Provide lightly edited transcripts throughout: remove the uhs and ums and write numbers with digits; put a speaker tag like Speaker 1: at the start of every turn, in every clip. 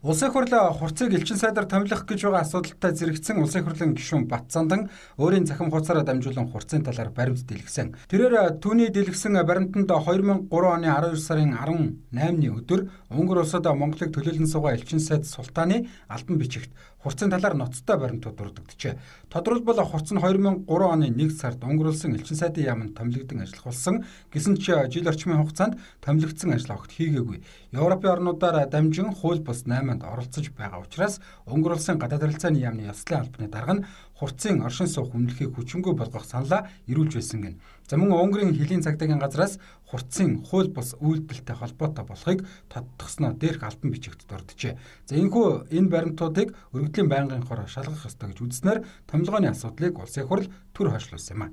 Speaker 1: Улсын хурлын хурцыг элчин сайдаар томилох гэж байгаа асуудалтай зэрэгцсэн улсын хурлын гишүүн Батцандан өөрийн захим хуудасаараа дамжуулан хурцын талаар баримт дэлгэсэн. Тэрээр түүний дэлгэсэн баримтанд 2003 оны 12 сарын 18-ны өдөр Унгар улсад Монголыг төлөөлөн суугаа элчин сайд Султааны албан бичигт хурцын талаар ноцтой баримтууд дурддагчээ. Тодорхойлбол хурц нь 2003 оны 1 сард Унгар улсын элчин сайдын яамд томилогдсон ажиллах болсон. Гэсэн ч жил орчмын хугацаанд томилогдсон ажил огт хийгээгүй. Европын орнуудаар дамжин хууль бус 8 оролцож байгаа учраас Унгар улсын гадаад харилцааны яамны ёслолын албаны дарга нь хурцын оршин суух үнэлэхийг хүчингүй болгох саналаа ирүүлж байсан гэнэ. За мөн Унгарын хилийн цагдаагийн газраас хурцын хууль бус үйлдэлтэй холбоотой болохыг тодтогсноо дээрх албан бичигт дурджээ. За энэхүү энэ баримтуудыг өргөдлийн байнгын хороо шалгах ёстой гэж үзснээр томилгооны асуудлыг улсын хурл түр хойшлуулсан юм а.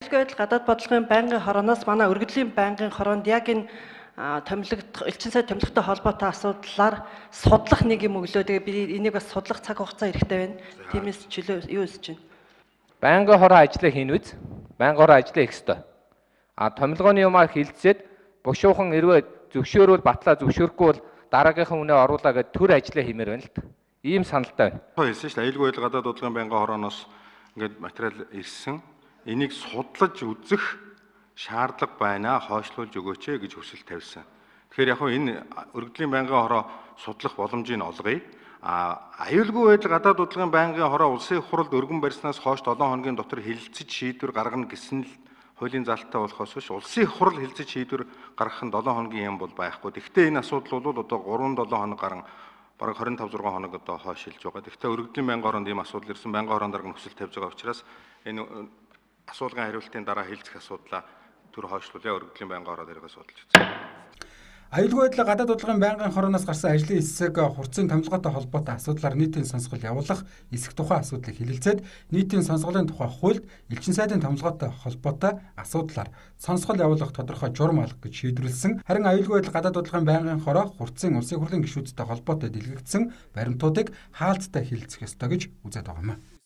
Speaker 2: Аюулгүй байдал гадаад бодлогын байнгын хорооноос манай өргөдлийн байнгын хороонд яг энэ элчин сайд томилогтой холбоотой асуудлаар судлах нэг юм өглөө. Тэгээ би энийг бас судлах цаг хугацаа хэрэгтэй байна. Тиймээс чөлөө юу хийж байна?
Speaker 3: Байнгын хороо ажлаа хийн үз. Байнгын хороо ажлаа хийх ёстой. Томилгооны юмар хилцээд бушуухан хэрвээ зөвшөөрвөл батлаа, зөвшөөрөхгүй бол дараагийнхаа үнэ оруулаа гэд төр ажлаа хиймээр байна л та. Ийм саналтай байна.
Speaker 4: Хэлсэн шүү дээ. Аюулгүй байдал гадаад бодлогын байнгын хорооноос ингээд материал ирсэн. Энийг судлаж үзэх шаардлага байна, хойшлуулж өгөөч гэж хүсэл тавьсан. Тэгэхээр яг энэ өргөдлийн байнгын хороо судлах боломжийг олгоё. Аюулгүй байдал гадаад бодлогын байнгын хороо улсын хурлд өргөн барьснаас хойш 7 хоногийн дотор хэлэлцэж шийдвэр гаргана гэсэн л хуулийн залттай болохоос биш улсын хурл хэлэлцэж шийдвэр гаргах нь 7 хоногийн юм бол байхгүй. Гэхдээ энэ асуудал бол одоо 3-7 хоног гарan бараг 25-6 хоног одоо хойшилж байгаа. Гэхдээ өргөдлийн байнгын хороонд ийм асуудал ирсэн. Байнгын хороонд дарга хүсэл тавьж байгаа учраас энэ асуулгын хариултын дараа хэлцэх асуудлаа түр хойшлуулъя, өргөдлийн байнгын хороо дээрээ судалж үзье.
Speaker 1: Аюулгүй байдлаа гадаад бодлогын байнгын хорооноос гарсан ажлын хэсэг хурцын томилгоотой холбоотой асуудлаар нийтийн сонсгол явуулах эсэх тухай асуудлыг хэлэлцээд нийтийн сонсголын тухай хуульд элчин сайдын томилгоотой холбоотой асуудлаар сонсгол явуулах тодорхой журам алга гэж шийдвэрлсэн. Харин аюулгүй байдал гадаад бодлогын байнгын хороо хурцын улсын хурлын гишүүдтэй холбоотой дэлгэгдсэн баримтуудыг хаалттай хэлэлцэх ёстой гэж үзээд байгаа юм.